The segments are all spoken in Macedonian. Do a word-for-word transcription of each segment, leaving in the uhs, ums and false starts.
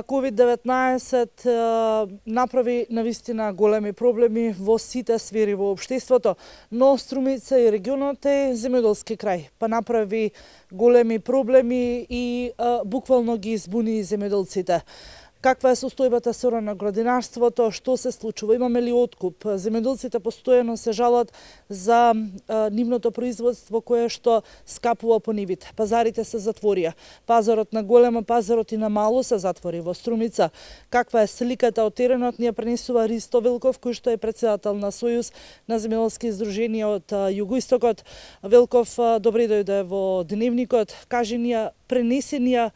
ковид деветнаесет направи навистина големи проблеми во сите сфери во општеството, но Струмица и регионот е земјоделски крај, па направи големи проблеми и буквално ги избуни земјоделците. Каква е состојбата со на градинарството, што се случува, имаме ли откуп? Земјоделците постојано се жалат за а, нивното производство кое што скапува по нивите. Пазарите се затворија. Пазарот на големо, пазарот и на мало се затвори во Струмица. Каква е сликата од теренот, ни ја пренесува Ристо Велков, кој што е председател на Сојуз на земјоделски издруженија од југоистокот. Велков, добре дојде во Дневникот. Кажи ни ја, пренеси ни ја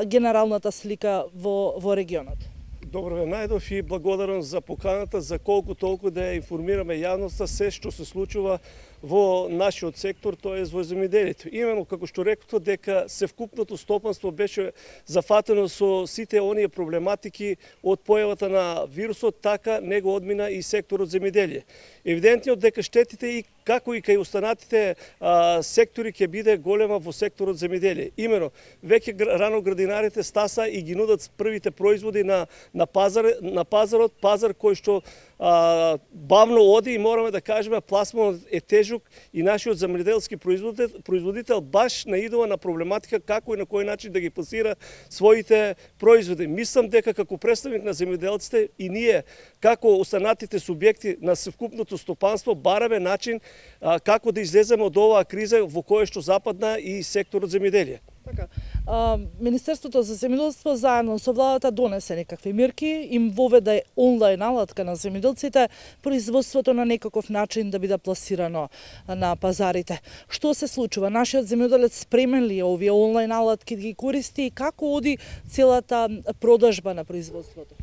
генералната слика во, во регионот. Добро ве најдов и благодарам за поканата, за колку толку да ја информираме јавноста се што се случува во нашиот сектор, тоа е во земјоделието. Именно како што рекото дека севкупното стопанство беше зафатено со сите оние проблематики од појавата на вирусот, така него одмина и секторот земјоделие. Евидентно дека штетите и како и кај останатите а, сектори ќе биде голема во секторот земјоделие. Именно веќе рано градинарите стаса и ги нудат првите производи на на пазар на пазарот, пазар кој што а, бавно оди и мораме да кажеме пласманот е тежок и нашиот земјоделски производител, производител баш наидува на проблематика како и на кој начин да ги пласира своите производи. Мислам дека како представник на земјоделците и ние како останатите субјекти на совкупното стопанство бараме начин а, како да излеземе од оваа криза во која што западна и секторот земјоделие. Така, а, Министерството за земјоделство заедно со владата донесе некакви мерки, им воведе онлайн алатка на земјоделците, производството на некаков начин да биде пласирано на пазарите. Што се случува? Нашиот земјоделец спремен ли е овие онлайн алатки да ги користи и како оди целата продажба на производството?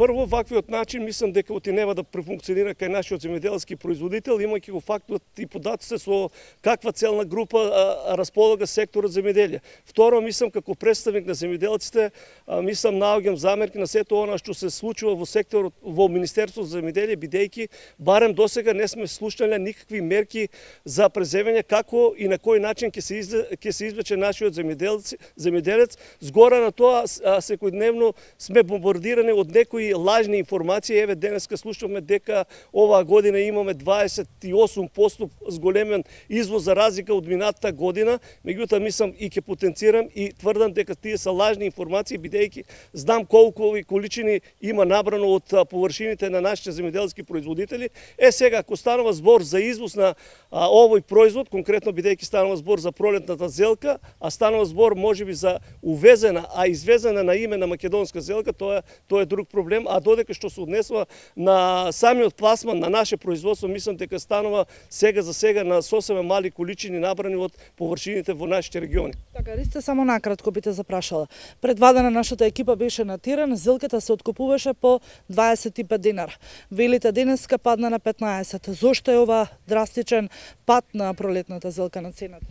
Прво, ваквиот начин, мислам дека отинева да префункционира кај нашиот земјоделски производител, имајќи го фактот и податоците со каква целна група а, располага секторот земјоделие. Второ, мислам како представник на земјоделците, а, мислам наоѓам замерки на сето она што се случува во секторот во Министерството за земјоделие, бидејќи барем досега не сме слушнале никакви мерки за преземање како и на кој начин ќе се изле, ќе се извлече нашиот земјоделец, земјоделец. Згора на тоа секојдневно сме бомбардирани од некои лажни информации. Еве денеска слушавме дека оваа година имаме дваесет и осум проценти зголемен извоз за разлика од минатата година. Меѓутоа мислам и ќе потенцирам и тврдам дека тие се лажни информации, бидејќи знам колку количини има набрано од површините на нашите земјоделски производители. Е сега ако станува збор за извоз на а, овој производ, конкретно бидејќи станува збор за пролетната зелка, а станува збор можеби за увезена, а извезена на име на македонска зелка, тоа тоа е друг проблем. А додека што се однесува на самиот пласман на наше производство, мислам дека станува сега за сега на сосема мали количини набрани од површините во нашите региони. Така, Ристе, само накратко би те запрашала. Предвадена нашата екипа беше на терен, зелката се откупуваше по дваесет и пет динара. Велите денеска падна на петнаесет. Зошто е ова драстичен пад на пролетната зелка на цената?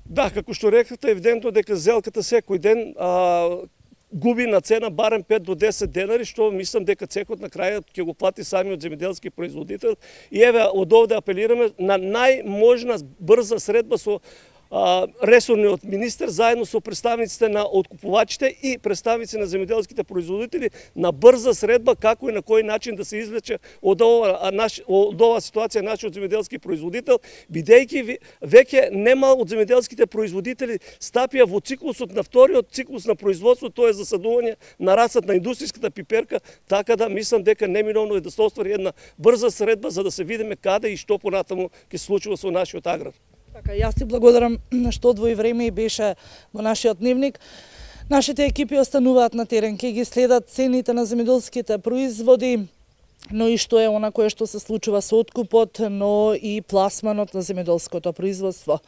Да, како што рекавте, евидентно дека зелката секој ден а, губи на цена барем пет до десет денари, што мислам дека цекот на крајот ќе го плати самиот земјоделски производител. И еве од овде апелираме на најможна брза средба со ресорниот министер заедно со представниците на откупувачите и представници на земјоделските производители на брза средба како и на кој начин да се извлече од ова наш од оваа ситуација нашиот земјоделски производител, бидејќи веќе нема од земјоделските производители стапија во циклусот на вториот циклус на производство, тоа е засадување на расат на индустријската пиперка, така да мислам дека неминовно е да се оствари една брза средба за да се видиме каде и што понатаму ќе се случува со нашиот аграр. Така, јас ти благодарам што одвои време и беше во нашиот дневник. Нашите екипи остануваат на терен, ќе ги следат цените на земјоделските производи, но и што е она кое што се случува со откупот, но и пласманот на земјоделското производство.